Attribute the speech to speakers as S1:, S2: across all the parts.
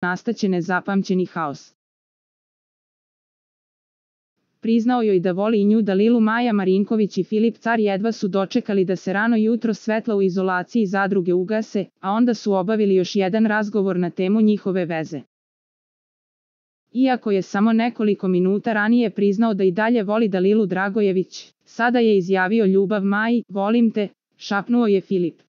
S1: nastaće nezapamćeni haos. Priznao joj da voli i nju Dalilu. Maja Marinković i Filip Car jedva su dočekali da se rano jutro svetla u izolaciji zadruge ugase, a onda su obavili još jedan razgovor na temu njihove veze. Iako je samo nekoliko minuta ranije priznao da i dalje voli Dalilu Dragojević, sada je izjavio ljubav Maji. Volim te, šapnuo je Filip.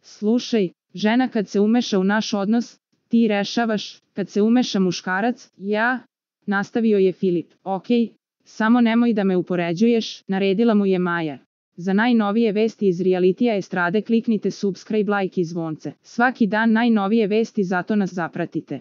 S1: Slušaj, žena kad se umeša u naš odnos, ti rešavaš, kad se umeša muškarac, ja, nastavio je Filip. Okej, samo nemoj da me upoređuješ, naredila mu je Maja. Za najnovije vesti iz realitija estrade kliknite subscribe, like i zvonce. Svaki dan najnovije vesti, zato nas zapratite.